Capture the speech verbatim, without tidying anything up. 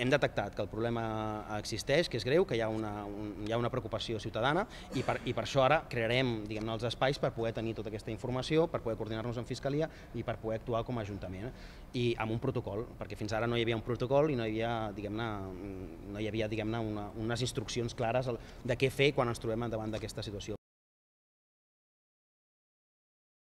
hem detectat que el problema existeix, que és greu, que hi ha una, un, hi ha una preocupació ciutadana i per, i per això ara crearem, diguem-ne, els espais per poder tenir tota aquesta informació, per poder coordinar-nos amb Fiscalia i per poder actuar com a Ajuntament. I amb un protocol, perquè fins ara no hi havia un protocol i no hi havia, diguem-ne, no hi havia, diguem-ne, una, unes instruccions clares de què fer quan ens trobem davant d'aquesta situació.